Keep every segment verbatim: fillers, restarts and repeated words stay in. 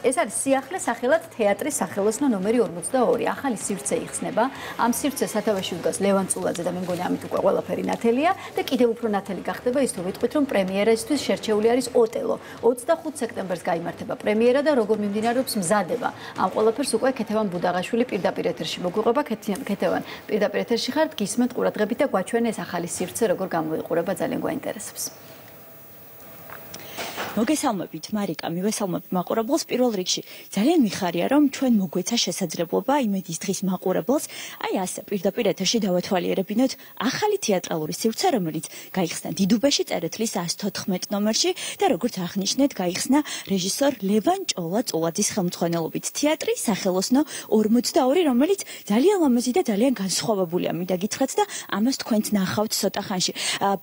ეს არის სიახლე სახელად თეატრის სახელოსნო ნომერი ორმოცდაორი. ახალი სივრცე იხსნება. ამ სივრცეს სათავეში უდგას ლევან წულაძე და მე მგონი ამით უკვე ყველაფერი ნათელია და კიდევ უფრო ნათელი გახდება ის თუ ვიტყვით რომ პრემიერისთვის შერჩეული არის ოტელო. ოცდახუთ სექტემბერს გაიმართება პრემიერა და როგორ მიმდინარეობს მზადება. ამ ყველაფერს უკვე ქეთევან ბუდაღაშვილი პირდაპირ ეთერში მოგვიყვება. ქეთევან პირდაპირ ეთერში ხართ, გისმენთ ყურადღებით და გვაჩვენე ეს ახალი სივრცე როგორ გამოიყურება, ძალიან გვაინტერესებს. მოგესალმებით მარიკა, მივესალმებ მაყურებელს. პირველ რიგში ძალიან მიხარია რომ ჩვენ მოგვეცა შესაძლებლობა იმედის დღის მაყურებელს აი ასე პირდაპირ ეთერში დავათვალიერებინოთ ახალი თეატრალური სივრცე, რომელიც გაიხსნა დიდუბეში წერეთლის ას თოთხმეტ ნომერში და როგორც აღნიშნეთ, გაიხსნა რეჟისორ ლევან ჭოლა-წულაძის ხელმძღვანელობით თეატრი სახელოსნო ორმოცდაორი, რომელიც ძალიან ლამაზი და ძალიან განსხვავებულია. მინდა გითხრათ და ამას თქვენც ნახავთ ცოტა ხანში.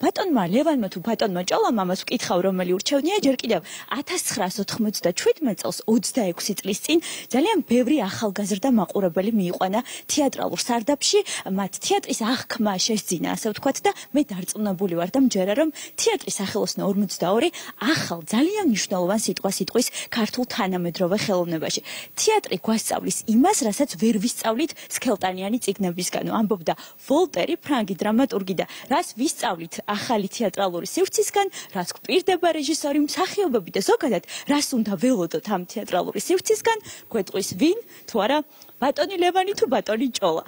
ბატონმა ლევანმა თუ ბატონმა ჭოლამ ამას ვკითხავ, რომელი ურჩევნია ჯერ კიდევ ათას ცხრაას ოთხმოცდაშვიდმეტ წელს ოცდაექვსი წლის წინ ძალიან ბევრი ახალგაზრდა მაყურებელი მიიყვანა თეატრალურ სარდაფში, მათ თეატრის აღქმა შესძინა, ასე ვთქვათ და მე დარწმუნებული ვარ და მჯერა რომ თეატრის სახელოსნო ორმოცდაორი ახალ ძალიან მნიშვნელოვან სიტყვა-სიტყვის ქართულ თანამედროვე ხელოვნებაში. თეატრი გვასწავლის იმას, რასაც ვერ ვისწავლით სქელტანიანი წიგნებისგანო, ამბობდა ვოლტერი, ფრანგი დრამატურგი და რას ვისწავლით ახალი თეატრალური სივრცისგან, რას გვპირდება რეჟისორი მსახიობები და ზოგადად რას უნდა ველოდოთ ამ თეატრალური სივრცისგან, გვეტყვის ვინ, თუ არა ბატონი ლევანი თუ ბატონი ჭოლა.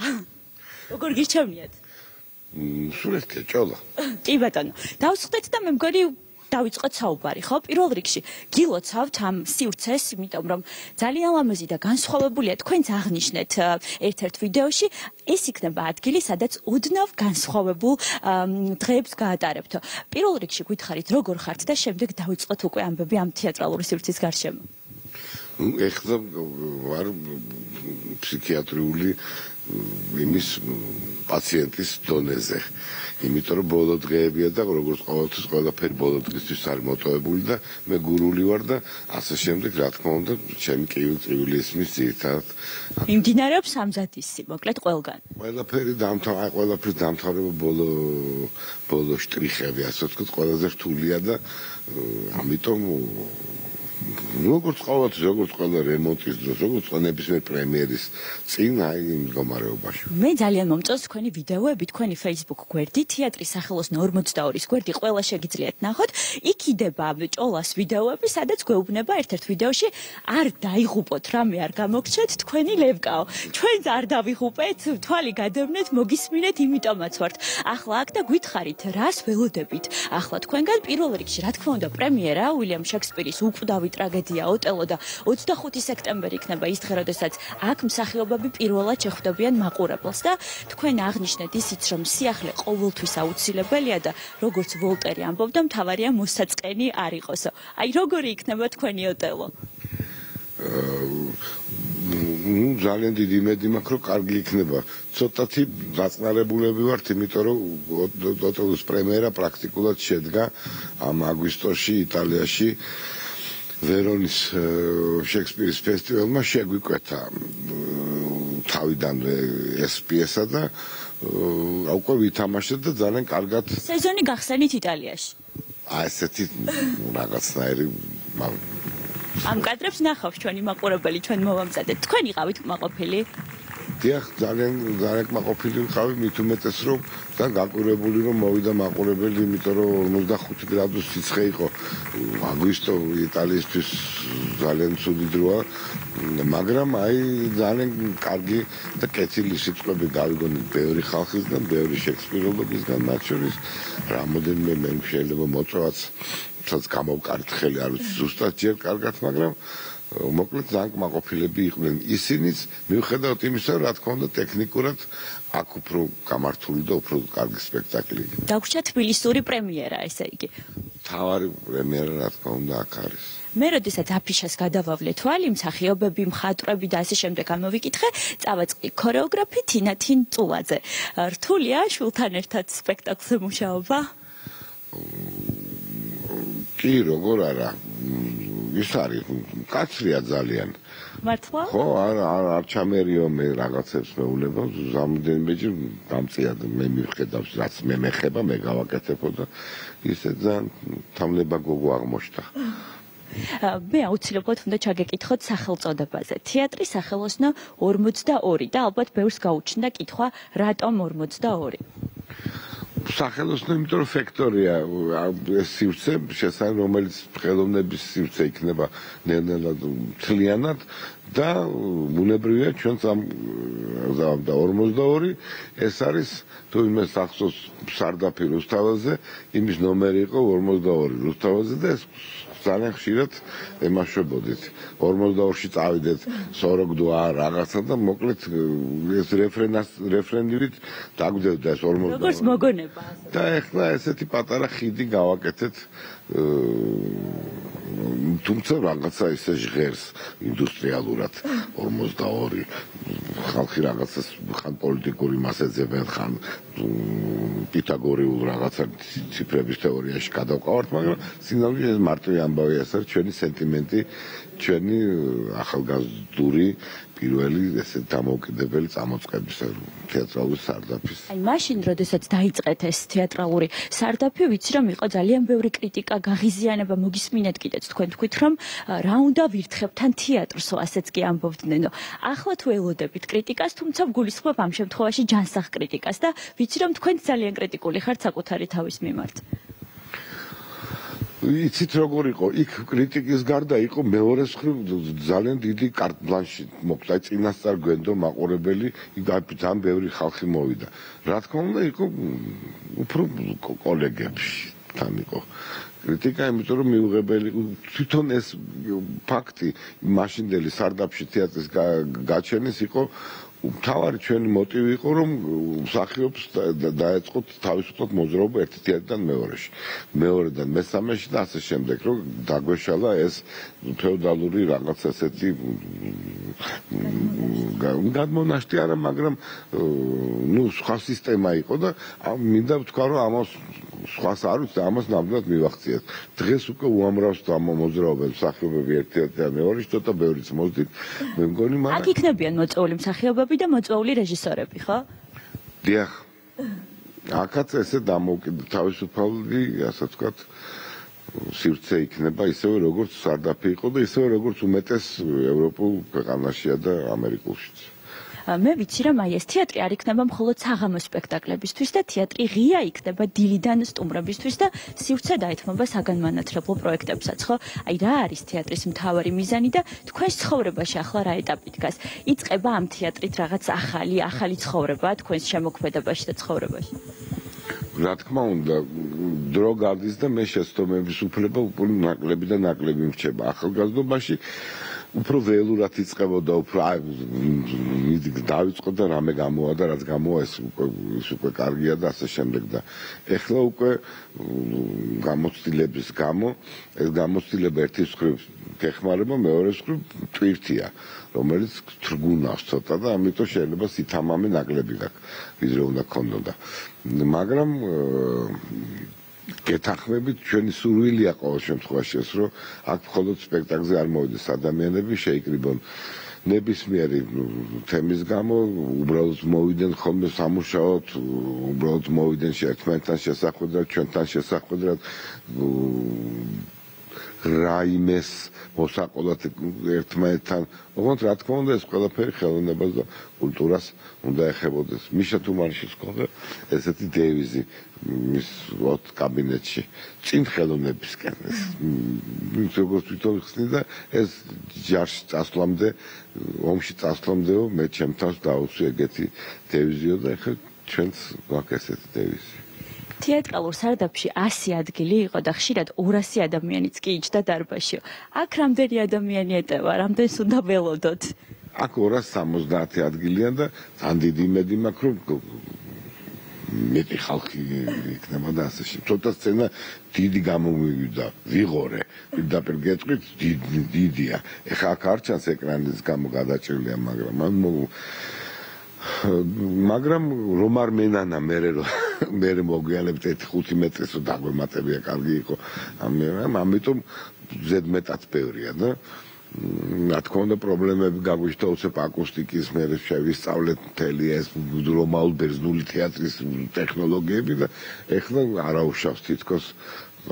როგორ გირჩევნიათ? სულ ერთია ჭოლა. კი ბატონო. დავსხდეთ და მე მგონი დავიწყოთ საუბარი, ხო? პირველ რიგში გილოცავთ ამ სივრცეს, იმიტომ რომ ძალიან ლამაზი და განსხვავებულია. თქვენც აღნიშნეთ ერთ-ერთ ვიდეოში, ეს იქნება ადგილი, სადაც ოდნავ განსხვავებულ დღეებს გაატარებთ. პირველ რიგში გითხარით, როგორ ხართ და შემდეგ დავიწყოთ უკვე ამბები ამ თეატრალური სივრცის გარშემო. ეხლა ვარ ფსიქიატრიული იმის პაციენტის დონეზე. იმიტომ რომ ბოლო დღეებია და როგორც ყოველთვის ყველაფერი ბოლო დღისთვის არის მოტოვებული და მე გურული ვარ და ასე შემდეგ, რა თქმა უნდა, ჩემი კივილი ისმის ძირითადად. მიმდინარეობს სამზადისი, მოკლედ ყველგან. ყველაფერი დამთავრება, ყველაფერი დამთავრება ბოლო ბოლო შტრიხები, ასე ვთქვათ, ყველაზე რთულია და ამიტომ როგორც ყოველთვის, როგორც ყველა რემონტის დროს, როგორც ნებისმიერ პრემიერის წინ აი იმ მდგომარეობაში. მე ძალიან მომწონს თქვენი ვიდეოები, თქვენი Facebook გვერდი, თეატრის სახელოსნო ორმოცდაორის გვერდი, ყველა შეგიძლიათ ნახოთ. იქიდება ჭოლას ვიდეოები, სადაც გვეუბნება ერთ-ერთ ვიდეოში არ დაიღუპოთ, რამე არ გამოგჩეთ, თქვენი ლევკაო. ჩვენც არ დავიღუპეთ, თვალი გადავნეთ, მოგისმინეთ, იმიტომაც ვართ. ახლა აქ და გითხარით, რას ველოდებით? ახლა თქვენგან პირველ რიგში, რა თქმა უნდა, პრემიერა უილიამ შექსპირის უკვდავი ტრაგედია ოტელო და ოცდახუთი სექტემბერი იქნება ის დღე, როდესაც აქ მსახიობები პირველად შეხვდებიან მაყურებელს და თქვენ აღნიშნეთ ისიც, რომ სიახლე ყოველთვის აუცილებელია და როგორც ვოლტერი ამბობდა, მთავარია მოსაწყენი არ იყოსო. აი როგორი იქნება თქვენი ოტელო? ნუ ძალიან დიდი იმედი მაქვს, რომ კარგი იქნება. ცოტათი დაწნარებულები ვართ, იმიტომ რომ ოტელოს პრემიერა პრაქტიკულად შედგა ამ აგვისტოში იტალიაში ვერონის შექსპირის ფესტივალმა შეგვიკვეთა თავიდანვე ეს პიესა და უკვე ვითამაშეთ და ძალიან კარგად სეზონი გახსენით იტალიაში. აი ესეთი რაღაცნაირი ამ კადრებს ნახავს ჩვენი მაყურებელი, ჩვენ მოვამზადეთ. თქვენ იყავით კმაყოფილი? დიახ, ძალიან ძალიან კმაყოფილი ვიყავი, მით უმეტეს რომ და გაკვირვებული რომ მოვიდა მაყურებელი, იმიტომ რომ ორმოცდახუთი გრადუსი სიცხე იყო. აგვისტო იტალიისთვის ძალიან ცუდი დროა, მაგრამ აი ძალიან კარგი და კეთილი სიტყვები გავიგონეთ ბევრი ხალხისგან, ბევრი შექსპიროლოგისგან, მათ შორის რამოდენიმე მე შეიძლება მოწვევაც სადაც გამოვკარით ხელი, არ ვიცი ზუსტად ჯერ კარგად, მაგრამ მოკლედ ძალიან კმაყოფილები იყვნენ. ისინიც მიუხედავად იმისა, რა თქმა უნდა, ტექნიკურად აქ უფრო გამართული და უფრო კარგი სპექტაკლი. დაგვრჩა თბილისური პრემიერა, ესე იგი. თავარი პრემიერა, რა თქმა უნდა, აქ არის. მე როდესაც აფიშას გადავავლე თვალი, მსახიობები, მხატვრები და ასე შემდეგ ამოვიკითხე, წავაწყდი ქორეოგრაფი თინათინ წულაძე. რთულია შვილთან ერთად სპექტაკლზე მუშაობა? კი, როგორ არა. ის არის კაცრია ძალიან. მართლა? ხო, არ არ ჩამერიო მე რაღაცებს მეუნება, ზამდენბეჯი დამწია მე მივხედავს, რაც მე მეხება, მე გავაკეთებო და ისე ძალიან თამლება გოგო აღმოჩნდა. მე აუცილებლად უნდა ჩაგეკითხოთ სახელწოდებაზე. თეატრი სახელოსნო ორმოცდაორი და ალბათ ბევრს გაუჩნდა კითხვა რატომ ორმოცდაორი? სახელოსნო, იმიტომ რომ ფაქტორია ეს სივრცე, შესაძლოა რომელიც ხელოვნების სივრცე იქნება ნელ-ნელა მთლიანად და ბუნებრივია ჩვენც ამ ორმოცდაორი ეს არის თუ იმას ახსოვს სარდაფი რუსთაველზე, იმის ნომერი იყო ორმოცდაორი რუსთაველზე და ეს ძალიან ხშირად ემაშვებოდით. ორმოცდაორში წავიდეთ სოროგდვა რაღაცა და მოკლედ ეს რეფრენას რეფრენივით დაგვდევდა ეს ორმოცდაორი. როგორც მოგონება. და ეხლა ესეთი პატარა ხიდი გავაკეთეთ თუმცა რაღაცა ისე ჟღერს ინდუსტრიალურად ორმოცდაორი ხალხი რაღაცას ხან პოლიტიკური მასეძებენ ხან პითაგორიულ რაღაცა ციფრების თეორიაში გადავყავართ მაგრამ სინამდვილეში ეს მარტივი ამბავი ეს არის ჩვენი სენტიმენტი ჩვენი ახალგაზრდული პირველი ესე დამოუკიდებელი წამოწყების თეატრალური სარდაფის. აი მაშინ როდესაც დაიწყეთ ეს თეატრალური სარდაფი, ვიცი რომ იყო ძალიან ბევრი კრიტიკა, გაღიზიანება, მოგისმინეთ კიდეც თქვენ თქვით რომ რა უნდა ვირთხებთან თეატრს, ასეც კი ამბობდნენ. ახლა თუ ელოდებით კრიტიკას, თუმცა გულისხმობ ამ შემთხვევაში ჯანსაღ კრიტიკას და ვიცი რომ თქვენ ძალიან კრიტიკული ხართ საკუთარი თავის მიმართ. იცით როგორ იყო იქ კრიტიკის გარდა იყო მეორე მხრივ ძალიან დიდი კარტ ბლანში მოხდა წინასწარ გვენდო მაყურებელი იქ ძალიან ბევრი ხალხი მოვიდა რა თქმა უნდა იყო უფრო კოლეგებში თან იყო კრიტიკა იმიტომ რომ მიუღებელი თვითონ ეს ფაქტი მაშინდელი სარდაფში თეატრის გაჩენის იყო მთავარი ჩვენი მოტივი იყო რომ მსახიობს დაეწყოთ თავისუფლად მოძრაობა ერთი თეატრიდან მეორეში მეორედან მესამეში და ასე შემდეგ რომ დაგვეშალა ეს ფეოდალური რაღაც ასეთი გადმონაშთი არა მაგრამ ნუ სხვა სისტემა იყო და მინდა ვთქვა რომ ამას სხვას არ ვიცი ამას ნამდვილად მივახციეთ დღეს უკვე უამრავს მოძრაობენ მსახიობები ერთი თეატრიდან მეორეში ცოტა ბევრიც მოძდით მე მგონი მაგრამ აქ იქნებიან მოწვეული მსახიობები და მოწვეული რეჟისორები, ხო? დიახ. აქაც ესე დამოუკიდებელი თავისუფალი, ასე ვთქვათ, სივრცე იქნება ისევე როგორც სარდაფი იყო და ისევე როგორც უმეტეს ევროპულ ქვეყანაშია და ამერიკულშიც. მე ვიცი რომ აი ეს თეატრი არ იქნება მხოლოდ საღამო სპექტაკლებისთვის და თეატრი ღია იქნება დილიდან სტუმრებისთვის და სივრცე დაეთმობა საგანმანათლებლო პროექტებსაც, ხო? აი რა არის თეატრის მთავარი მიზანი და თქვენს ცხოვრებაში ახლა რა ეტაპი დგას? იწყება ამ თეატრით რაღაც ახალი, ახალი ცხოვრება თქვენს შემოქმედებაში და ცხოვრებაში? რა თქმა უნდა, დრო გადის და მე შეცდომების უფლება უფრო ნაკლები და ნაკლები მრჩება ახალგაზრდობაში. უფრო ველურად იწყებოდა, უფრო დავიწყო და რამე გამოვა და რაც გამოვა ეს უკვე კარგია და ასე შემდეგ და ეხლა უკვე გამოცდილების გამო ეს გამოცდილება ერთის მხრივ გეხმარება, მეორეს მხრივ ტვირთია, რომელიც თრგუნავს ცოტა და ამიტომ შეიძლება სითამამე ნაკლები გაქვს, ვიდრე უნდა ქონოდა. მაგრამ გეთანხმებით ჩვენი სურვილია ყოველ შემთხვევაში ეს რომ აქ მხოლოდ სპექტაკლზე არ მოვიდეს ადამიანები შეიკრიბონ ნებისმიერი თემის გამო უბრალოდ მოვიდნენ ხოლმე სამუშაოდ უბრალოდ მოვიდნენ ერთმანეთთან შესახვედრად ჩვენთან შესახვედრად რაიმეს მოსაყოლად ერთმანეთთან ოღონდ რა თქმა უნდა ეს ყველაფერი ხელოვნებას და კულტურას უნდა ეხებოდეს მიშა თუმანიშვილის ჰქონდა ესეთი დევიზი მის ოთ კაბინეტში წინ ხელოვნებისკენ ეს როგორც თვითონ ხსნი და ეს ჯარში წასვლამდე ომში წასვლამდეო მე ჩემ თავს დაუცვი ეგეთი დევიზიო და ეხლა ჩვენც გვაქვს ესეთი დევიზი თეატრალურ სარდაფში ასი ადგილი იყო და ხშირად ორასი ადამიანიც კი იჯდა დარბაზში. აქ რამდენი ადამიანი ეტევა, რამდენს უნდა ველოდოთ? აქ ორას სამოცდაათი ადგილია და ძალიან დიდი იმედი მაქვს, რომ მეტი ხალხი იქნება და ასე შემდეგ. ცოტა სცენა დიდი გამომივიდა, ვიღორე, პირდაპირ გეტყვით, დიდია. ეხლა აქ არ ჩანს ეკრანის გამო გადაჭრილია, მაგრამ მან მაგრამ რომ არ მენანა მე მე მოგვიანებთ ერთი ხუთი მეტრის რომ დაგვემატებია კარგი იყო ამიტომ ზედმეტად ბევრია და რა თქმა უნდა პრობლემები გაგვიჩნდა უცებ აკუსტიკის მე შევისწავლეთ მთელი ეს რომაულ ბერძნული თეატრის ტექნოლოგიები და ეხლა არაუშავს თითქოს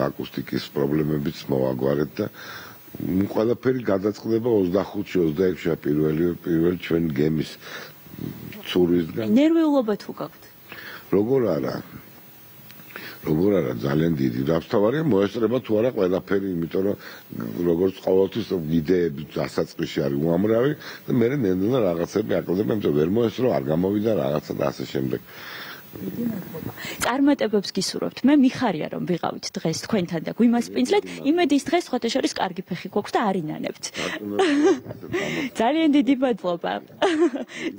აკუსტიკის პრობლემებიც მოვაგვარეთ და ყველაფერი გადაწყდება ოცდახუთში ოცდაექვსში პირველი პირველი ჩვენი გემის ცურვისგან. ნერვიულობა თუ გაქვთ? როგორ არა? როგორ არა ძალიან დიდი. რაბსთავარია მოესწრება თუ არა ყველაფერი, იმიტომ რომ როგორც ყოველთვის იდეები დასაწყისში არის უამრავი და მე ნენდენა რაღაცები აკლდება, იმიტომ ვერ მოესწრო, არ გამოვიდა რაღაცა და ასე შემდეგ. წარმატებებს გისურვებთ. მე მიხარია რომ ვიყავით დღეს თქვენთან და გვიმასპინძლეთ. იმედის დღეს სხვათა შორის კარგი ფეხი გვაქვს და არ ინანებთ. ძალიან დიდი მადლობა.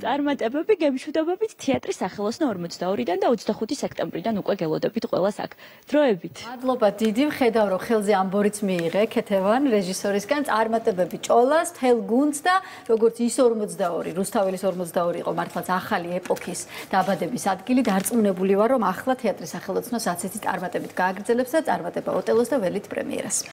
წარმატებები, გემშვიდობებით თეატრის სახელოსნო ორმოცდაორიდან და ოცდახუთი სექტემბრიდან უკვე გელოდებით ყველას აქ. დროებით. მადლობა დიდი, ვხედავ რომ ხელზე ამბორიც მიიღე ქეთევან რეჟისორისგან. წარმატებები ჭოლას, თელ გუნდს და როგორც ის ორმოცდაორი, რუსთაველის ორმოცდაორი იყო მართლაც ახალი ეპოქის დაბადების ადგილი. დარწმუნებული ვარ რომ ახლა თეატრის სახელოსნოს ასეთი წარმატებით გააგრძელებს და წარმატება ოტელოს და ველით პრემიერას.